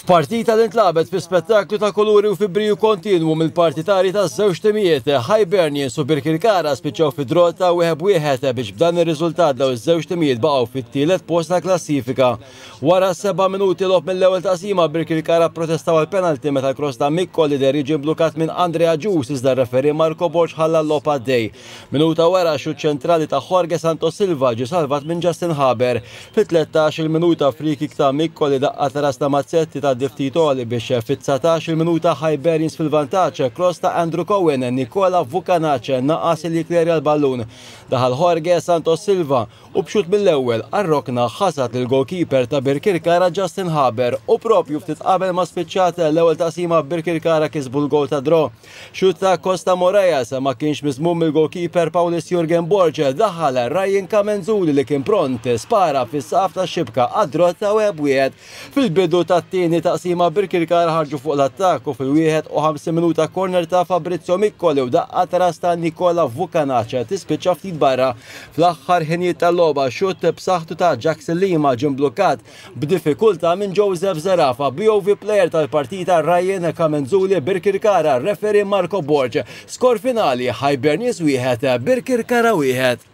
F'partita li ntlagħbet fi spettaklu ta' kuluri u fi briju kontinwu mill-partitarji taż-żewġ timijiet, Hibernians u Birkirkara spiċċaw fi draw ta' 1-1 biex b'dan ir-riżultat dawn iż-żewġ timijiet baqgħu fit-tielet post tal-klassifika. Wara seba' minuti logħob mill-ewwel taqsima, Birkirkara pprotestaw għal penalty meta l-cross ta' Miccoli deher jiġi mblukkat minn Andre Agius iżda r-referee Marco Borg ħalla l-logħob għaddej. Minuta wara, xutt ċentrali ta' Jorge Santos Silva ġie salvat minn Justin Haber. Fit-13-il minuta free-kick ta' Miccoli daqqa ta' ras ta' Mazzetti tgħaddi ftit għoli biex fit-19-il minuta Hibernians fil-vantaġġ, cross ta' Andrew Cohen, Nikola Vukanac naqas li jikklerja l-ballun. Daħal Jorge Santos Silva u b'xutt mill-ewwel għar-rokna ħasad lill-goalkeeper ta' Birkirkara Justin Haber u proprju ftit qabel ma spiċċat l-ewwel taqsima Birkirkara kisbu l-goal ta' draw. Xutt ta' Costa Moraes ma kienx miżmum mill-goalkeeper Paulis Jurgen Borg daħal Ryan Camenzuli li kien pront spara fis-saqaf tax-xibka għad-draw ta' 1-1. Fil-bidu tat-tieni taqsima Birkirkara ħarġu fuq l-attakk u fil-51 minuta korner ta' Fabrizio Miccoli u daqqa ta' ras ta' Nikola Vukanac tispiċċa ftit barra. Fl-aħħar ħinijiet tal-logħba xutt b'saħħtu ta' Jackson Lima ġie mblukkat b'diffikultà minn Joseph Zerafa. BOV player tal-partita Ryan Camenzuli Birkirkara, referee Marco Borg. Skor finali Hibernians 1, Birkirkara 1.